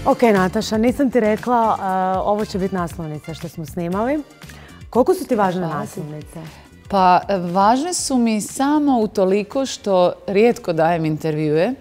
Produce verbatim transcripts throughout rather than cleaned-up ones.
Ok, Nataša, nisam ti rekla, ovo će biti naslovnica što smo snimali. Koliko su ti važne naslovnice? Pa, važne su mi samo utoliko što rijetko dajem intervjue.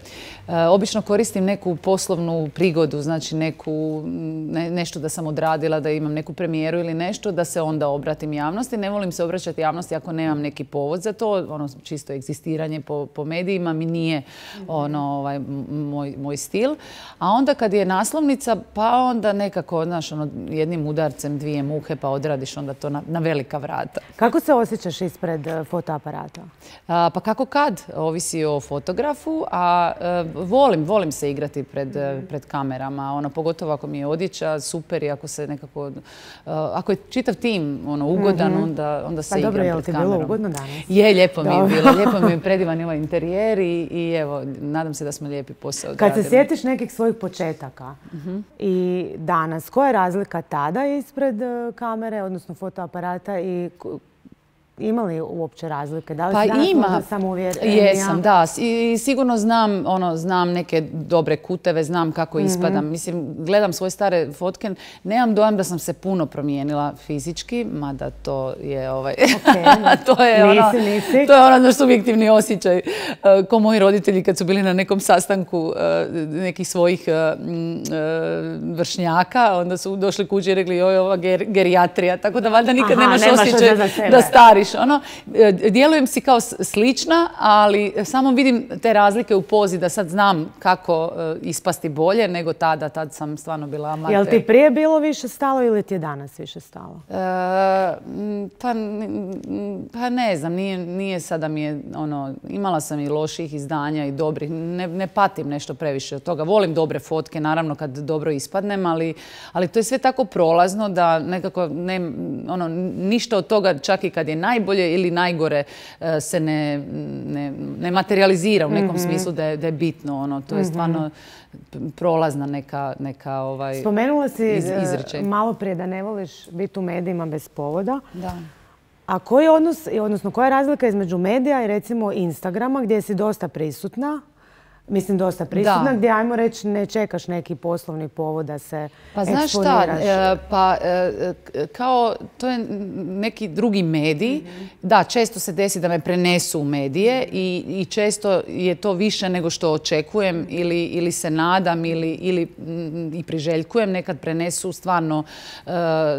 Obično koristim neku poslovnu prigodu, znači neku, ne, nešto da sam odradila, da imam neku premijeru ili nešto, da se onda obratim javnosti. Ne volim se obraćati javnosti ako nemam neki povod za to. Ono, čisto egzistiranje po, po medijima mi nije ono, ovaj, moj, moj stil. A onda kad je naslovnica, pa onda nekako, znaš, ono, jednim udarcem dvije muhe pa odradiš onda to na, na velika vrata. Kako se osjećaš ispred fotoaparata? A, pa kako kad? Ovisi o fotografu, a Volim, volim se igrati pred, pred kamerama, ono, pogotovo ako mi je odjeća super i ako se nekako, uh, ako je čitav tim ono, ugodan, mm-hmm. onda, onda se pa igram dobro, pred kamerom. Pa dobro, je li ti kamerom. bilo ugodno danas? Je, lijepo mi je bilo, lijepo mi je predivan ovaj interijer i, i evo, nadam se da smo lijepi posao odradili. Kad se sjetiš nekih svojih početaka mm-hmm. i danas, koja je razlika tada ispred kamere, odnosno fotoaparata i ima li uopće razlike? Da li pa si danas ima. možda samouvjerenija? Jesam, da. I sigurno znam, ono, znam neke dobre kuteve, znam kako mm-hmm. ispadam. Mislim, gledam svoje stare fotke, nemam dojam da sam se puno promijenila fizički, mada to je ovaj... Okay. to je nisi, ono, nisi. To je ono naš subjektivni osjećaj. Ko moji roditelji kad su bili na nekom sastanku nekih svojih vršnjaka, onda su došli kući i rekli joj, ova ger, gerijatrija, tako da valjda nikad Aha, nemaš osjećaj da stariš. Ono, djelujem si kao slična, ali samo vidim te razlike u pozi da sad znam kako ispasti bolje nego tada. Tad sam stvarno bila amater. Je li ti prije bilo više stalo ili ti je danas više stalo? E, pa, pa ne znam, nije, nije sada mi je, ono, imala sam i loših izdanja i dobrih. Ne, ne patim nešto previše od toga. Volim dobre fotke, naravno kad dobro ispadnem, ali, ali to je sve tako prolazno da nekako ne, ono, ništa od toga, čak i kad je najbolje ili najgore, se ne, ne, ne materializira u nekom mm-hmm. smislu da je, da je bitno. Ono. To je stvarno prolazna neka, neka ovaj, Spomenula si iz, izrečaj. malo prije da ne voliš biti u medijima bez povoda. Da. A koji je odnos, odnosno koja je razlika između medija i recimo Instagrama gdje si dosta prisutna? Mislim, dosta prisutna, da. Gdje, ajmo reći, ne čekaš neki poslovni povod da se pa znaš šta, e, pa e, kao to je neki drugi medij. Mm-hmm. Da, često se desi da me prenesu u medije i, i često je to više nego što očekujem ili, ili se nadam ili, ili m, i priželjkujem. Nekad prenesu stvarno e,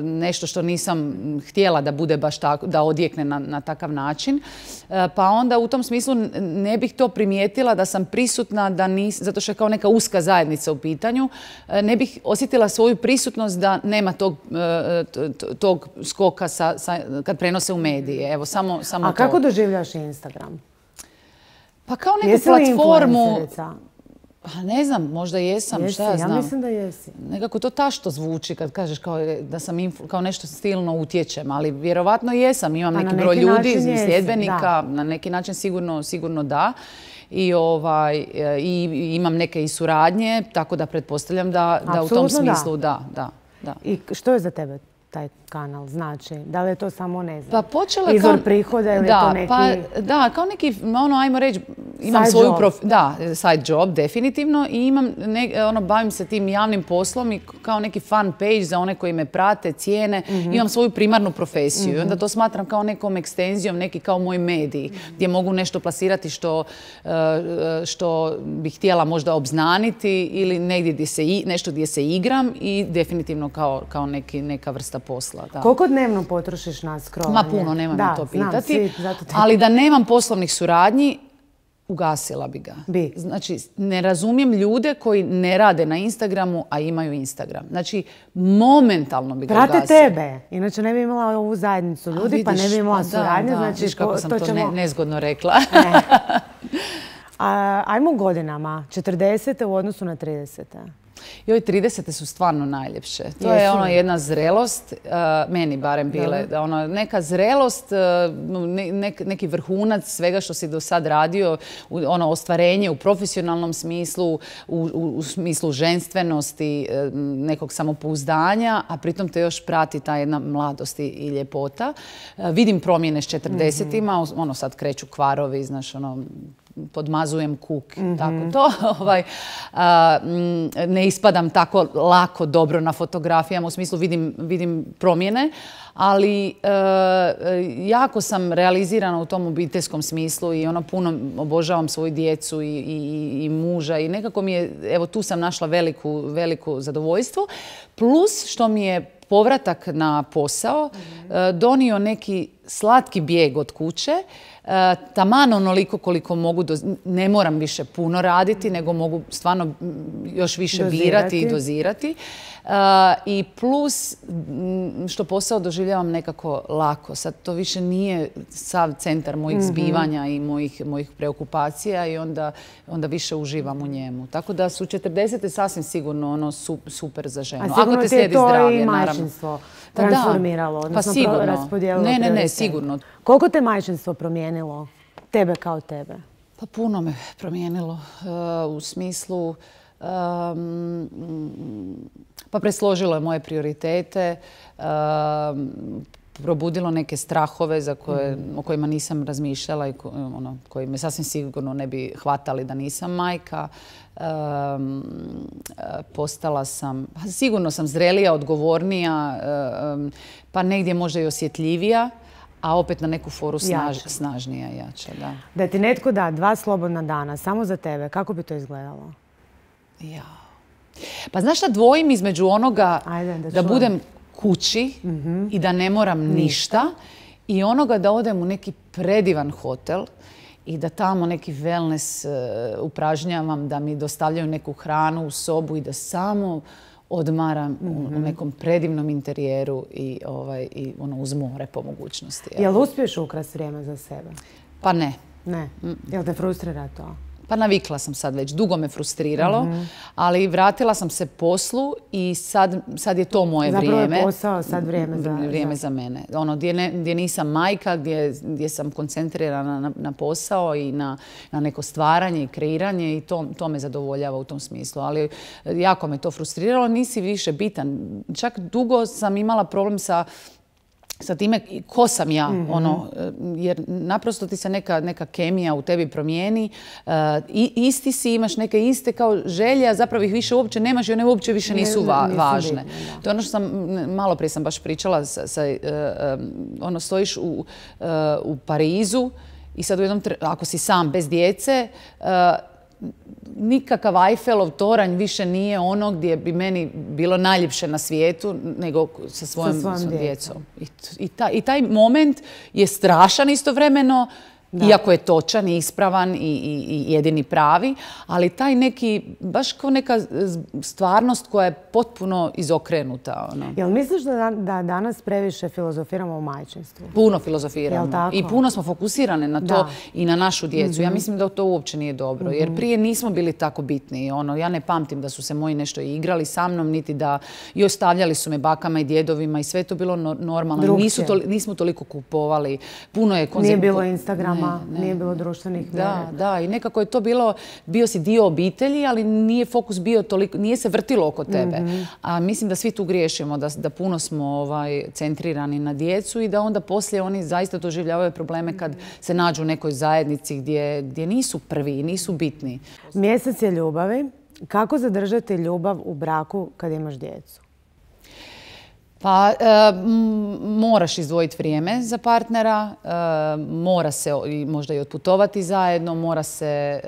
nešto što nisam htjela da bude baš tako, da odjekne na, na takav način. E, pa onda u tom smislu ne bih to primijetila da sam prisutna da nis, zato što je kao neka uska zajednica u pitanju, ne bih osjetila svoju prisutnost da nema tog, tog skoka sa, sa, kad prenose u medije. Evo, samo, samo A to. kako doživljaš Instagram? Pa kao neku Jesi platformu... Pa ne znam, možda jesam, jesi, šta ja znam. Ja mislim da jesi. Nekako to tašto zvuči kad kažeš kao da sam influ, kao nešto stilno utječem, ali vjerovatno jesam. Imam neki, neki broj ljudi, sljedbenika, na neki način sigurno, sigurno da. I, ovaj, i imam neke i suradnje, tako da pretpostavljam da, da u tom smislu da. da, da. I što je za tebe taj kanal znači? Da li je to samo, ne znam, pa počela izvor kao, prihoda ili da, to neki... Pa, da, kao neki, ono, ajmo reći, imam side svoju job. Prof, da, side job, definitivno, i imam, ne, ono, bavim se tim javnim poslom i kao neki fan page za one koji me prate, cijene, mm-hmm. imam svoju primarnu profesiju mm-hmm. i onda to smatram kao nekom ekstenzijom, neki kao moj medij, mm-hmm. gdje mogu nešto plasirati što, što bih htjela možda obznaniti ili negdje gdje se, nešto gdje se igram i definitivno kao, kao neki, neka vrsta posla. Da. Koliko dnevno potrošiš na scrollanje? Ma puno, nemam da, me to pitati. Znam, svi, zato te... Ali da nemam poslovnih suradnji, ugasila bi ga. Bi. Znači, ne razumijem ljude koji ne rade na Instagramu, a imaju Instagram. Znači, momentalno bi ga Prate ugasila. Prate tebe. Inače ne bi imala ovu zajednicu ljudi, vidiš, pa ne bi imala suradnje. Znači, vidiš kako to, sam to, to ćemo... ne, nezgodno rekla. Ne. A, ajmo godinama. četrdesete u odnosu na tridesete. Joj, tridesete su stvarno najljepše. To Jesu. je ono jedna zrelost, uh, meni barem bile, da. ono, neka zrelost, uh, ne, neki vrhunac svega što si do sad radio, ono ostvarenje u profesionalnom smislu, u, u, u smislu ženstvenosti, uh, nekog samopouzdanja, a pritom te još prati ta jedna mladost i, i ljepota. Uh, vidim promjene s četrdesetima, mm-hmm. ono sad kreću kvarovi, znaš, ono, podmazujem kuk. Tako to. Ovaj, a, ne ispadam tako lako dobro na fotografijama, u smislu vidim, vidim promjene, ali e, jako sam realizirana u tom obiteljskom smislu i ono puno obožavam svoju djecu i, i, i muža i nekako mi je, evo tu sam našla veliku, veliku zadovoljstvo. Plus što mi je povratak na posao mm-hmm. donio neki slatki bijeg od kuće, taman onoliko koliko mogu, ne moram više puno raditi, nego mogu stvarno još više dozirati. birati i dozirati. I plus što posao doživljavam nekako lako. Sad to više nije sav centar mojih mm-hmm. zbivanja i mojih, mojih preokupacija i onda, onda više uživam u njemu. Tako da su četrdesete sasvim sigurno ono super za ženu. A sigurno ako te ti je slijedi to zdravlje, i majčinstvo transformiralo, odnosno pa raspodijelilo. Ne, ne, ne, sigurno. Koliko te majčinstvo promijenilo? Tebe kao tebe? Pa puno me promijenilo uh, u smislu um, pa presložilo je moje prioritete, uh, probudilo neke strahove za koje, mm. o kojima nisam razmišljala i ko, ono, koji me sasvim sigurno ne bi hvatali da nisam majka. Um, postala sam, sigurno sam zrelija, odgovornija, um, pa negdje možda i osjetljivija. A opet na neku foru snaž, snažnija i jača, da. Da ti netko da dva slobodna dana samo za tebe, kako bi to izgledalo? Ja. Pa znaš šta, dvojim između onoga Ajde, da, da budem kući mm-hmm. i da ne moram ništa i onoga da odem u neki predivan hotel i da tamo neki wellness uh, upražnjavam, da mi dostavljaju neku hranu u sobu i da samo odmaram mm-hmm. u nekom predivnom interijeru i, ovaj, i ono, uz more po mogućnosti. Jel uspiješ ukrasti vrijeme za sebe? Pa ne. Ne? Jel te frustrira to? Pa navikla sam sad već, dugo me frustriralo, mm-hmm. ali vratila sam se poslu i sad, sad je to moje Zapravo vrijeme. Zapravo je posao sad vrijeme za... Vrijeme za mene. Ono, gdje, ne, gdje nisam majka, gdje, gdje sam koncentrirana na, na posao i na, na neko stvaranje i kreiranje i to, to me zadovoljava u tom smislu. Ali jako me to frustriralo, nisi više bitan. Čak dugo sam imala problem sa sa time ko sam ja, mm-hmm. ono, jer naprosto ti se neka, neka kemija u tebi promijeni. Uh, i, isti si, imaš neke iste kao želje, a zapravo ih više uopće nemaš i one uopće više nisu, va, nisu važne. Bitne, to je ono što sam, malo prije sam baš pričala, sa, sa, uh, um, ono, stojiš u, uh, u Parizu i sad u jednom, ako si sam bez djece, uh, nikakav Eiffelov toranj više nije ono gdje bi meni bilo najljepše na svijetu nego sa svojom, sa svojom djecom. I, i, taj, I taj moment je strašan istovremeno, da. Iako je točan i ispravan i, i, i jedini pravi, ali taj neki, baš kao neka stvarnost koja je potpuno izokrenuta. Ono. Jel misliš da, da danas previše filozofiramo o majčinstvu? Puno filozofiramo. I puno smo fokusirane na to da. I na našu djecu. Mm-hmm. Ja mislim da to uopće nije dobro, mm-hmm. jer prije nismo bili tako bitni. Ono, ja ne pamtim da su se moji nešto igrali sa mnom, niti da i ostavljali su me bakama i djedovima i sve to bilo normalno. Nisu to, nismo toliko kupovali. Puno je konzum... Nije bilo Instagrama. Ne, ne. Nije bilo društvenih mjera. Da, da. I nekako je to bilo, bio si dio obitelji, ali nije fokus bio toliko, nije se vrtilo oko tebe. Mm-hmm. A mislim da svi tu griješimo, da, da puno smo ovaj, centrirani na djecu i da onda poslije oni zaista doživljavaju probleme kad se nađu u nekoj zajednici gdje, gdje nisu prvi, nisu bitni. Mjesec je ljubavi. Kako zadržati ljubav u braku kad imaš djecu? Pa e, moraš izdvojiti vrijeme za partnera, e, mora se i, možda i otputovati zajedno, mora se e,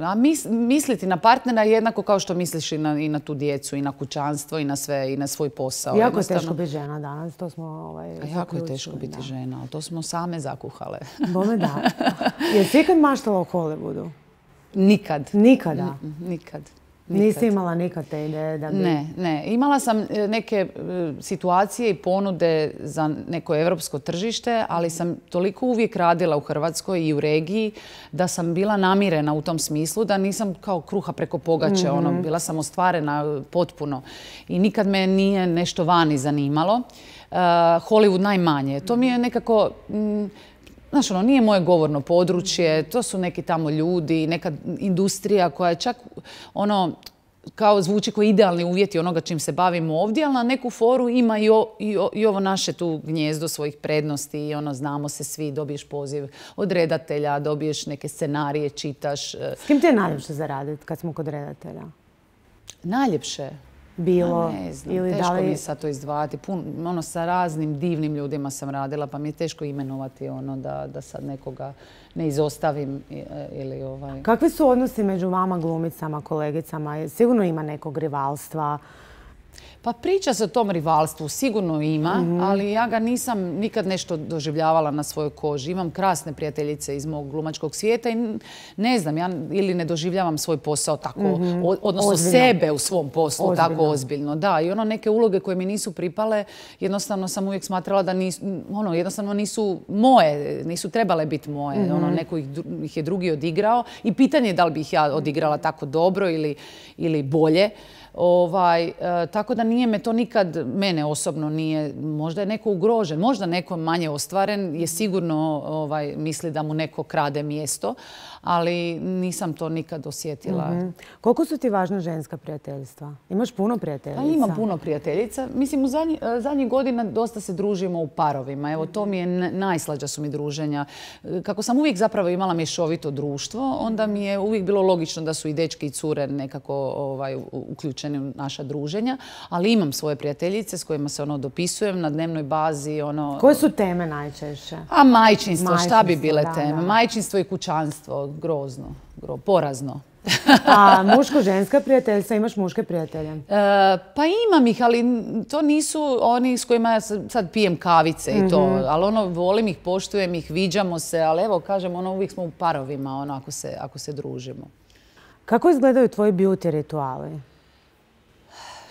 a mis, misliti na partnera jednako kao što misliš i na, i na tu djecu, i na kućanstvo, i na sve, i na svoj posao. Jako je teško biti žena danas, to smo ovaj, a jako je teško biti da. žena, ali to smo same zakuhale. Bome da. Jesi ikad maštala o Hollywoodu? Nikad. Nikada? N- nikad. Nikad. Nisi imala nikad te ideje da bi... Ne, ne. Imala sam neke situacije i ponude za neko evropsko tržište, ali sam toliko uvijek radila u Hrvatskoj i u regiji da sam bila namirena u tom smislu, da nisam kao kruha preko pogače. Mm-hmm. Ono, bila sam ostvarena potpuno. I nikad me nije nešto vani zanimalo. Uh, Hollywood najmanje. To mi je nekako... Mm, Znaš, ono, nije moje govorno područje, to su neki tamo ljudi, neka industrija koja je čak, ono, kao zvuči koji idealni uvjeti onoga čim se bavimo ovdje, ali na neku foru ima i, o, i, o, i ovo naše tu gnjezdo svojih prednosti i ono, znamo se svi, dobiješ poziv od redatelja, dobiješ neke scenarije, čitaš. S kim ti je najljepše zaraditi kad smo kod redatelja? Najljepše? Bilo, ne znam, ili teško da li... mi je sad to izdvajati. Pun, ono, sa raznim divnim ljudima sam radila, pa mi je teško imenovati ono da, da sad nekoga ne izostavim ili ovaj... Kakvi su odnosi među vama, glumicama, kolegicama? Sigurno ima nekog rivalstva. Pa priča se o tom rivalstvu, sigurno ima, mm-hmm. ali ja ga nisam nikad nešto doživljavala na svojoj koži. Imam krasne prijateljice iz mog glumačkog svijeta i ne znam, ja ili ne doživljavam svoj posao tako, mm-hmm. odnosno ozbiljno. Sebe u svom poslu ozbiljno. Tako ozbiljno. Da, i ono neke uloge koje mi nisu pripale, jednostavno sam uvijek smatrala da nisu, ono, jednostavno nisu moje, nisu trebale biti moje. Mm-hmm. Ono, neko ih, ih je drugi odigrao i pitanje je da li bih ja odigrala tako dobro ili, ili bolje. Ovaj, e, tako da nije me to nikad, mene osobno nije, možda je neko ugrožen, možda neko manje ostvaren, je sigurno ovaj, misli da mu neko krade mjesto, ali nisam to nikad osjetila. Mm-hmm. Koliko su ti važna ženska prijateljstva? Imaš puno prijateljica? Pa imam puno prijateljica. Mislim, u zadnji, zadnjih godina dosta se družimo u parovima. Evo, to mi je najslađa su mi druženja. Kako sam uvijek zapravo imala mješovito društvo, onda mi je uvijek bilo logično da su i dečki i cure nekako ovaj, uključeni u naša druženja. Ali imam svoje prijateljice s kojima se ono dopisujem na dnevnoj bazi. Ono... Koje su teme najčešće? A majčinstvo, šta bi bile da, teme? Da. Majčinstvo i kućanstvo, grozno, gro, porazno. A muško-ženska prijateljstva, imaš muške prijatelje? E, pa imam ih, ali to nisu oni s kojima ja sad pijem kavice i to. Mm-hmm. Ali ono, volim ih, poštujem ih, viđamo se, ali evo, kažem, ono, uvijek smo u parovima, ono, ako se, ako se družimo. Kako izgledaju tvoji beauty rituali?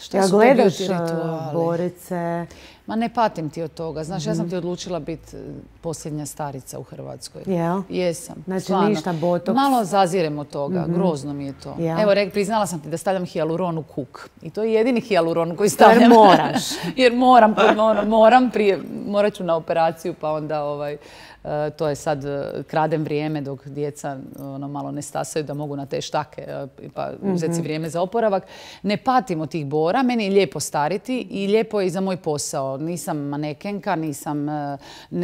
Šta ja su gledaš to beauty rituali? Borice? Ma ne patim ti od toga. Znaš, mm-hmm. ja sam ti odlučila biti posljednja starica u Hrvatskoj. Jel? Jesam. Znači stvarno. Ništa, botoks? Malo zazirem od toga. Mm-hmm. Grozno mi je to. Jel? Evo, re, priznala sam ti da stavljam hijaluron u kuk. I to je jedini hijaluron koji stavljam. Jer moraš. Jer moram, moram prije, morat ću na operaciju, pa onda ovaj, uh, to je sad, uh, kradem vrijeme dok djeca ono, malo ne stasaju da mogu na te štake, uh, pa uzeti si vrijeme za oporavak. Ne patim od tih bora, meni je lijepo stariti i lijepo je i za moj posao. Nisam manekenka, nisam, ne,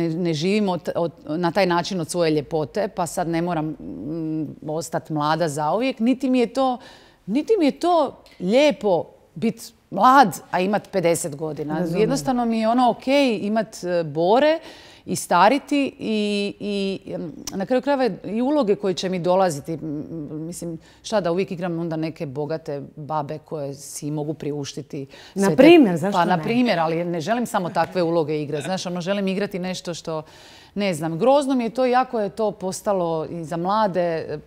ne živim od, od, na taj način od svoje ljepote, pa sad ne moram mm, ostati mlada zauvijek. Niti mi je to, niti mi je to lijepo biti mlad, a imati pedeset godina. Razumem. Jednostavno mi je ono ok imati bore i stariti i, i na kraju krajeva i uloge koje će mi dolaziti. Mislim, šta da uvijek igram onda neke bogate babe koje si mogu priuštiti. Na primjer, zašto pa, ne? Na primjer, ali ne želim samo takve uloge igrati. Znaš, ono, želim igrati nešto što, ne znam, grozno mi je to, jako je to postalo i za mlade,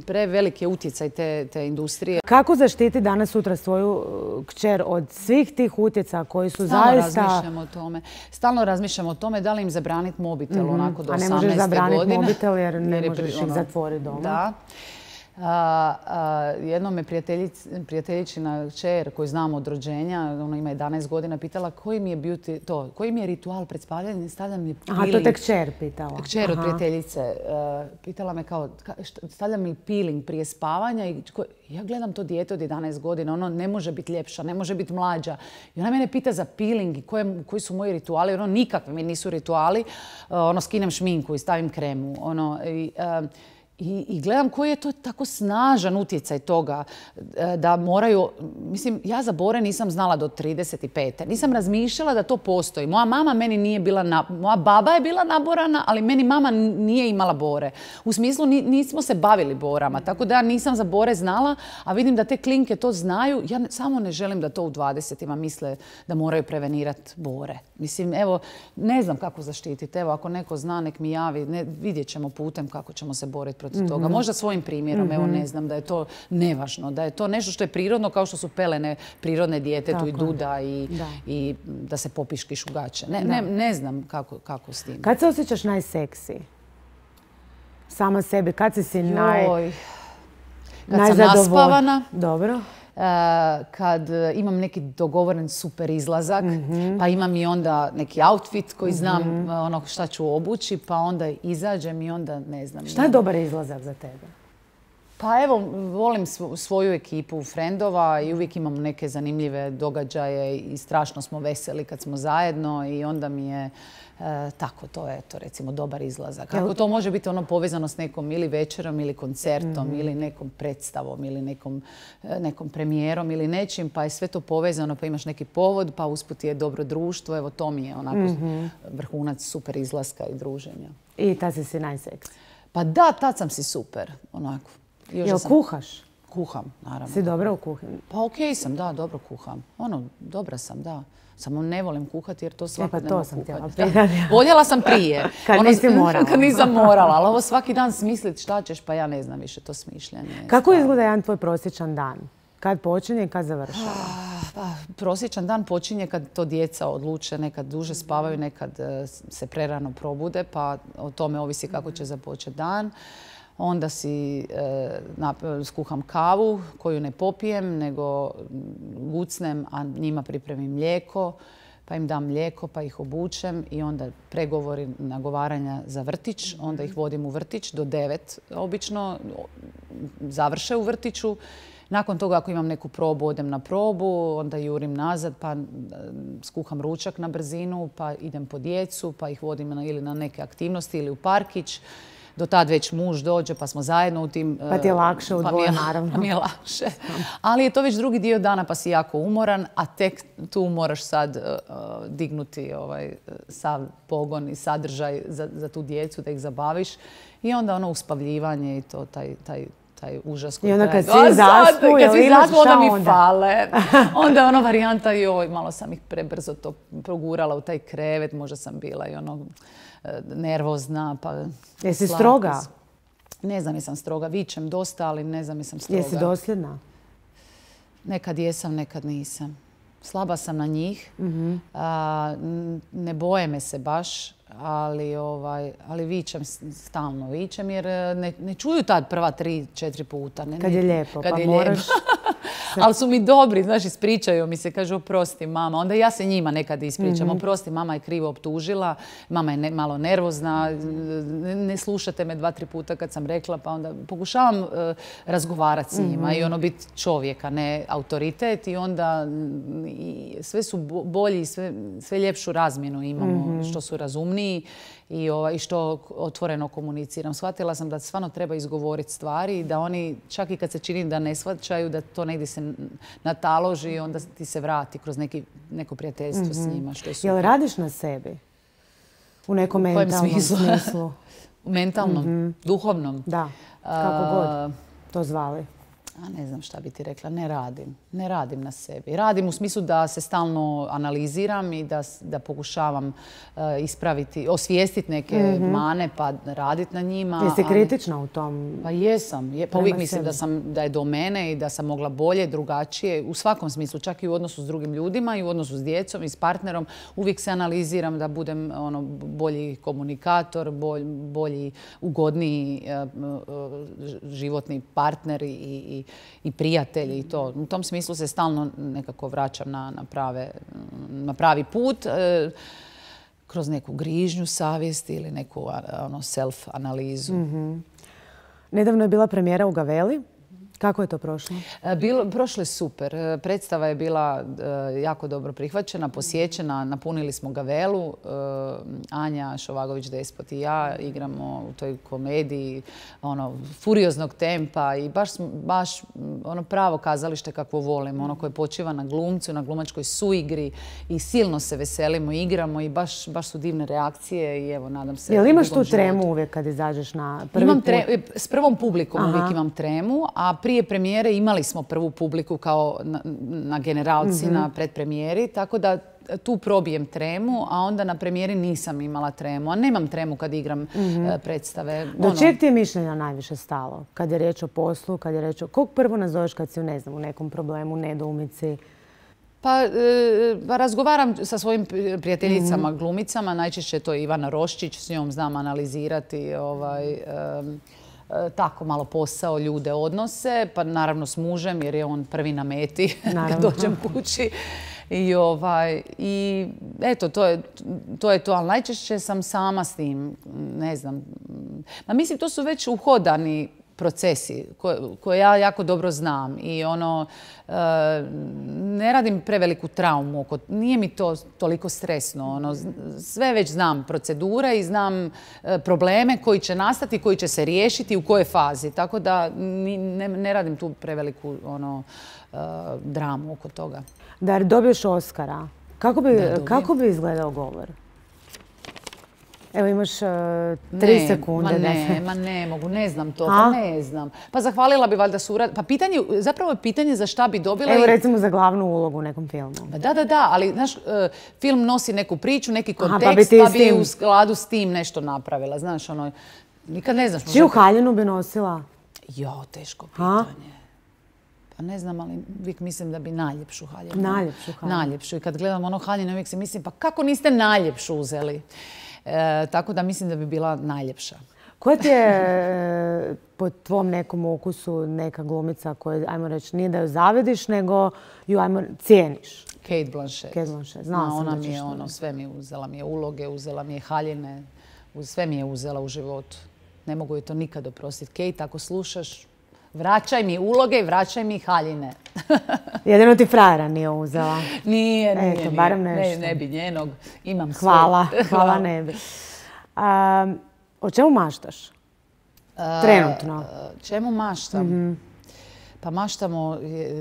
preveliki utjecaj te, te industrije. Kako zaštiti danas sutra svoju kćer od svih tih utjecaja koji su Stalno zaista... Stalno razmišljam o tome. Stalno razmišljam o tome da li im zabraniti mobitel mm-hmm. onako do osamnaeste godine. A ne možeš zabraniti mobitel jer ne jer možeš ono, ih zatvoriti doma. Da. A, a, jednom me prijateljičina kćer koju znam od rođenja, ona ima jedanaest godina, pitala koji mi je beauty, to, koji mi je ritual pred spavljanjem, stavljam mi peeling. Aha, to te kćer pitala. Kćer od prijateljice. Uh, pitala me kao, stavljam mi peeling prije spavanja i ko, ja gledam to dijete od jedanaest godina, ono ne može biti ljepša, ne može biti mlađa. I ona mene pita za peeling i koje, koji su moji rituali, ono nikakvi mi nisu rituali. Uh, ono skinem šminku i stavim kremu. Ono, i, uh, I, I gledam koji je to tako snažan utjecaj toga da moraju... Mislim, ja za bore nisam znala do trideset pete. Nisam razmišljala da to postoji. Moja mama meni nije bila... Na, moja baba je bila naborana, ali meni mama nije imala bore. U smislu nismo se bavili borama, tako da ja nisam za bore znala, a vidim da te klinke to znaju. Ja ne, samo ne želim da to u dvadesetima misle da moraju prevenirati bore. Mislim, evo, ne znam kako zaštititi. Evo, ako neko zna, nek mi javi. Ne, vidjet ćemo putem kako ćemo se boriti protiv toga. Možda svojim primjerom, evo ne znam, da je to nevažno, da je to nešto što je prirodno kao što su pelene prirodne djetetu i duda i da. i da se popiškiš u gaće. Ne, ne, ne znam kako, kako s tim. Kad se osjećaš najseksi? Sama sebi, kad si si naj... Kad sam naspavana. Dobro. Uh, kad imam neki dogovoren super izlazak, mm-hmm. pa imam i onda neki outfit koji znam mm-hmm. ono šta ću obući, pa onda izađem i onda ne znam. Šta je dobar izlazak za tebe? Pa evo, volim svoju ekipu frendova i uvijek imamo neke zanimljive događaje i strašno smo veseli kad smo zajedno i onda mi je e, tako, to je to recimo dobar izlazak. Kako to može biti ono povezano s nekom ili večerom ili koncertom mm-hmm. ili nekom predstavom ili nekom, nekom premijerom ili nečim, pa je sve to povezano, pa imaš neki povod, pa usput je dobro društvo. Evo to mi je onako mm-hmm. vrhunac super izlaska i druženja. I tad si si najseksi? Pa da, tad sam si super, onako. Jel sam... kuhaš? Kuham, naravno. Si dobra u kuhinji? Pa okej okay sam, da, dobro kuham. Ono, dobra sam, da. Samo ne volim kuhati jer to svakodnevno kuhati. E pa to sam htjela pitati. Voljela sam prije. Kad ono, nisi morala. Kad nisam morala, ali ovo svaki dan smislit šta ćeš, pa ja ne znam više to smišljanje. Kako stavno. Izgleda jedan tvoj prosječan dan? Kad počinje i kad završava? Pa, prosječan dan počinje kad to djeca odluče, nekad duže spavaju, nekad se prerano probude, pa o tome ovisi kako će započeti dan. Onda si e, skuham kavu koju ne popijem, nego gucnem, a njima pripremim mlijeko, pa im dam mlijeko, pa ih obučem i onda pregovori nagovaranja za vrtić. Onda ih vodim u vrtić do devet obično, završe u vrtiću. Nakon toga ako imam neku probu, odem na probu, onda jurim nazad, pa skuham ručak na brzinu, pa idem po djecu, pa ih vodim na, ili na neke aktivnosti ili u parkić. Do tad već muž dođe, pa smo zajedno u tim... Pa ti je lakše u dvoje, naravno. Pa mi je lakše. Ali je to već drugi dio dana, pa si jako umoran, a tek tu moraš sad uh, dignuti ovaj, sav pogon i sadržaj za, za tu djecu, da ih zabaviš. I onda ono uspavljivanje i to, taj, taj, taj užas koji I onda kad traje. svi zaspu, kad svi zaspu, onda mi onda? fale. Onda je ono varijanta, joj, malo sam ih prebrzo to progurala u taj krevet, možda sam bila i ono... nervozna, pa... Jesi stroga? Ne znam jesam stroga. Vičem dosta, ali ne znam jesam stroga. Jesi dosljedna? Nekad jesam, nekad nisam. Slaba sam na njih. Mm-hmm. A, ne boje me se baš, ali, ovaj, ali vičem stalno. Vičem jer ne, ne čuju tad prva tri, četiri puta. Ne, kad je lijepo, kad pa je moraš... Ali su mi dobri, znaš, ispričaju mi se, kažu oprosti mama. Onda ja se njima nekad ispričam, mm-hmm. oprosti mama je krivo optužila, mama je ne, malo nervozna, ne, ne slušate me dva, tri puta kad sam rekla, pa onda pokušavam uh, razgovarati s njima mm-hmm. i ono biti čovjek, a ne autoritet i onda i sve su bolji, sve, sve ljepšu razmjenu imamo, mm-hmm. što su razumniji i, ovaj, što otvoreno komuniciram. Shvatila sam da stvarno treba izgovoriti stvari i da oni, čak i kad se čini da ne shvaćaju, da to negdje se nataloži i onda ti se vrati kroz neki, neko prijateljstvo mm-hmm. s njima. Što je super. Jel radiš na sebi? U nekom mentalnom smislu? smislu? U mentalnom, mm-hmm. duhovnom? Da, kako uh, god to zvali. A ne znam šta bi ti rekla, ne radim. Ne radim na sebi. Radim u smislu da se stalno analiziram i da, da pokušavam uh, ispraviti, osvijestiti neke mm-hmm. mane pa raditi na njima. Jesi kritična u tom? Pa jesam. Je, pa uvijek mislim da, sam, da je do mene i da sam mogla bolje, drugačije. U svakom smislu, čak i u odnosu s drugim ljudima i u odnosu s djecom i s partnerom. Uvijek se analiziram da budem ono, bolji komunikator, bolj, bolji, ugodniji uh, uh, životni partner i, i i prijatelji i to. U tom smislu se stalno nekako vraćam na, na, prave, na pravi put e, kroz neku grižnju savjesti ili neku ono, self-analizu. Mm-hmm. Nedavno je bila premijera u Gaveli. Kako je to prošlo? Bilo, prošlo je super. Predstava je bila uh, jako dobro prihvaćena, posjećena. Napunili smo Gavelu. Uh, Anja Šovagović-Despot i ja igramo u toj komediji ono, furioznog tempa i baš, baš ono pravo kazalište kakvo volimo. Ono koje počiva na glumcu, na glumačkoj suigri i silno se veselimo, igramo i baš, baš su divne reakcije i evo, nadam se... Jel imaš tu tremu životu. Uvijek kad izađeš na prvi imam put? Tre, s prvom publikom Aha. uvijek imam tremu, a prije premijere imali smo prvu publiku kao na, na generalci mm-hmm. na predpremijeri, tako da tu probijem tremu, a onda na premijeri nisam imala tremu. A nemam tremu kad igram mm-hmm. predstave. Do ono... čeg ti je mišljenja najviše stalo? Kad je riječ o poslu, kad je riječ o... Kog prvo nazoveš kad si, ne znam, u nekom problemu, nedoumici? Pa, e, razgovaram sa svojim prijateljicama, mm-hmm. glumicama. Najčešće je to Ivana Roščić, s njom znam analizirati ovaj... E, tako malo posao, ljude, odnose, pa naravno s mužem jer je on prvi na meti kad dođem kući. I, ovaj, i eto, to je, to je to, ali najčešće sam sama s tim, ne znam. Ma mislim, to su već uhodani procesi koje ja jako dobro znam i ono, ne radim preveliku traumu. Nije mi to toliko stresno. Ono, sve već znam procedure i znam probleme koji će nastati, koji će se riješiti, u kojoj fazi. Tako da ne, ne radim tu preveliku ono, dramu oko toga. Da dobiješ Oskara, kako bi, kako bi izgledao govor? Evo imaš uh, tri ne, sekunde. Ma ne, da se... ma ne mogu, ne znam to, pa ne znam. Pa zahvalila bi valjda surad... Pa pitanje, zapravo je pitanje za šta bi dobila... Evo i... recimo za glavnu ulogu u nekom filmu. Da, da, da, ali znaš, uh, film nosi neku priču, neki kontekst, Aha, pa bi, ti pa bi tim... u skladu s tim nešto napravila. Znaš, ono, nikad ne znaš. Čiju haljinu bi nosila? Jo, teško pitanje. Pa ne znam, ali uvijek mislim da bi najljepšu haljinu. Najljepšu haljinu. Najljepšu. I kad gledam ono haljinu, uvijek se mislim, pa kako niste najljepšu uzeli? E, tako da mislim da bi bila najljepša. Koja ti je po tvom nekom ukusu neka glumica koja, ajmo reći, nije da ju zavediš, nego ju, ajmo, cijeniš? Kate Blanchett. Kate Blanchett. Znala sam ona da ćeš mi je ono, sve mi je uzela, mi je uloge, uzela mi je haljine, sve mi je uzela u životu. Ne mogu joj to nikad oprostiti. Kate, ako slušaš, vraćaj mi uloge i vraćaj mi haljine. Jedino ti frajera nije uzela. Nije, nije. Eto, barem nešto. Ne, ne bi njenog. Imam sve. Hvala, hvala ne bi. Um, o čemu maštaš? Trenutno. Uh, čemu maštam? Mm-hmm. Pa maštam o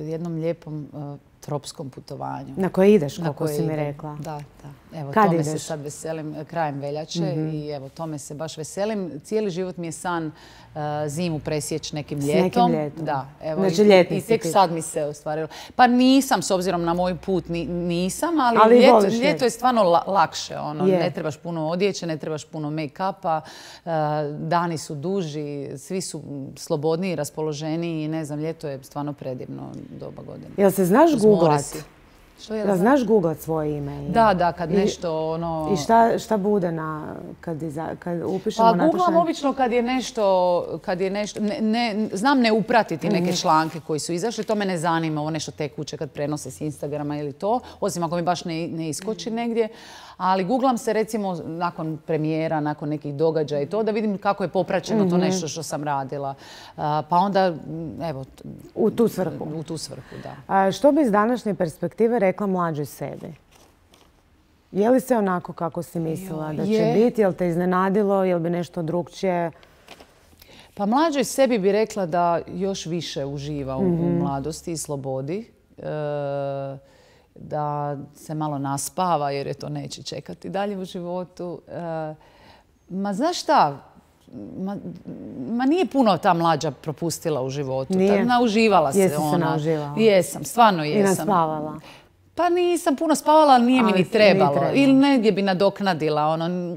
jednom lijepom uh, tropskom putovanju. Na koje ideš, kako si mi rekla. Da, da. Evo, Kad tome ideš? se sad veselim krajem veljače mm-hmm. i evo, tome se baš veselim. Cijeli život mi je san uh, zimu presjeći nekim ljetom. S nekim ljetom. Da, evo, znači i, ljetni i tek sad mi se ostvarilo. Pa nisam, s obzirom na moj put, ni, nisam, ali, ali ljeto, ljet. ljeto je stvarno la, lakše. Ono, je. Ne trebaš puno odjeće, ne trebaš puno make-upa, uh, dani su duži, svi su slobodniji, raspoloženiji i ne znam, ljeto je stvarno predivno doba godine. Jel se znaš googlati? Što je da znaš googlat svoje ime? Da, da, kad nešto ono... I šta, šta bude na, kad, iza, kad upišemo pa, Nataša? Pa googlam obično kad je nešto, kad je nešto, ne, ne, znam ne upratiti neke mm-hmm. članke koji su izašli, to me ne zanima, ovo nešto tekuće kad prenose s Instagrama ili to, osim ako mi baš ne, ne iskoči mm-hmm. negdje. Ali googlam se recimo nakon premijera, nakon nekih događaja i to, da vidim kako je popraćeno mm-hmm. to nešto što sam radila. Uh, pa onda, evo... U tu svrhu. U tu svrhu, da. A što bi iz današnje perspektive rekla mlađoj sebi? Je li se onako kako si mislila da će je. biti? Je li te iznenadilo? Je li bi nešto drugčije? Pa mlađoj sebi bi rekla da još više uživa u, mm-hmm. u mladosti i slobodi. E, da se malo naspava jer je to neće čekati dalje u životu. E, ma znaš šta? Ma, ma nije puno ta mlađa propustila u životu. Nije? Ta, nauživala se Jesi ona. se nauživala? Jesam, stvarno jesam. I naspavala? Pa nisam puno spavala, ali nije ali mi ni trebalo. trebalo. Ili negdje bi nadoknadila. Ono,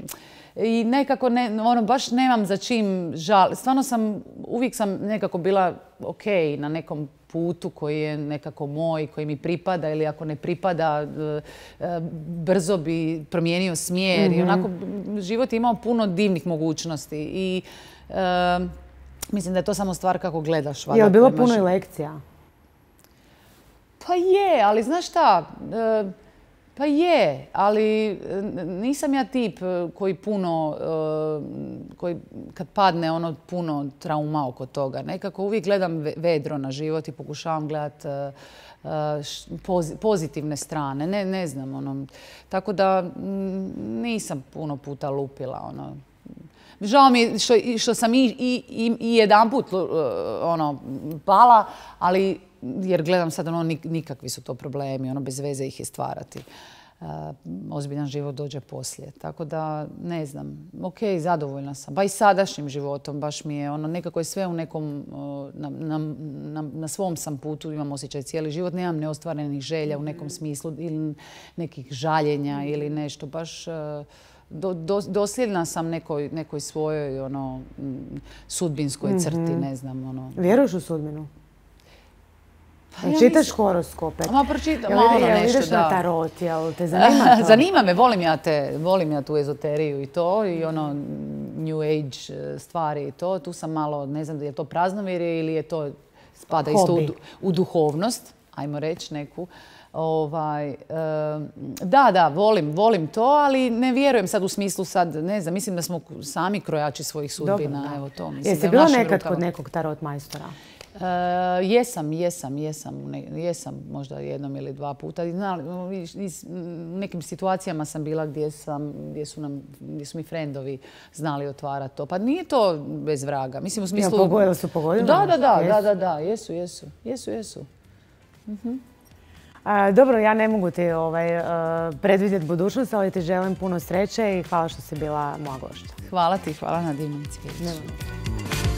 i nekako ne, ono, baš nemam za čim žal. Stvarno sam, uvijek sam nekako bila ok na nekom putu koji je nekako moj, koji mi pripada ili ako ne pripada, brzo bi promijenio smjer. Mm-hmm. I onako, život je imao puno divnih mogućnosti. I e, mislim da je to samo stvar kako gledaš. Je li bilo puno i lekcija? Pa je, ali znaš šta? E, Pa je, ali nisam ja tip koji puno, koji kad padne ono puno trauma oko toga. Nekako uvijek gledam vedro na život i pokušavam gledati pozitivne strane. Ne, ne znam, ono. Tako da nisam puno puta lupila, ono. Žao mi je što, što sam i, i, i jedan put ono, pala, ali jer gledam sad ono nikakvi su to problemi, ono bez veze ih je stvarati. Uh, ozbiljan život dođe poslije. Tako da, ne znam, ok, zadovoljna sam. Ba i sadašnjim životom, baš mi je ono, nekako je sve u nekom, uh, na, na, na, na svom sam putu, imam osjećaj cijeli život, nemam neostvarenih želja u nekom smislu ili nekih žaljenja ili nešto, baš... Uh, Do, do, dosljedna sam nekoj, nekoj svojoj ono, sudbinskoj crti, mm-hmm. ne znam. Ono. Vjeruješ u sudbinu? Pa ja čitaš horoskope? Ma pročitam, jel, malo jel, nešto, ideš da. na tarot, jel te zanima to? Zanima me, volim ja, te, volim ja tu ezoteriju i to, i ono New Age stvari i to. Tu sam malo, ne znam, je to praznovjerje ili je to spada Hobi. isto u, u duhovnost. ajmo reći neku. Ovaj, da, da, volim, volim to, ali ne vjerujem sad u smislu sad, ne znam, mislim da smo sami krojači svojih sudbina. Dobro, evo to. Mislim, jesi bila nekad kod nekog tarot majstora? Uh, jesam, jesam, jesam, ne, jesam možda jednom ili dva puta. U nekim situacijama sam bila gdje, sam, gdje, su, nam, gdje su mi frendovi znali otvarati to. Pa nije to bez vraga. Mislim u smislu... Ja, pogodili su pogodili? Da, da, da, da, da, da, jesu, jesu, jesu, jesu. Uh-huh. A, dobro, ja ne mogu ti ovaj, uh, predvidjeti budućnost, ali ti želim puno sreće i hvala što si bila moja gošća. Hvala ti, hvala na divnom cvijeću.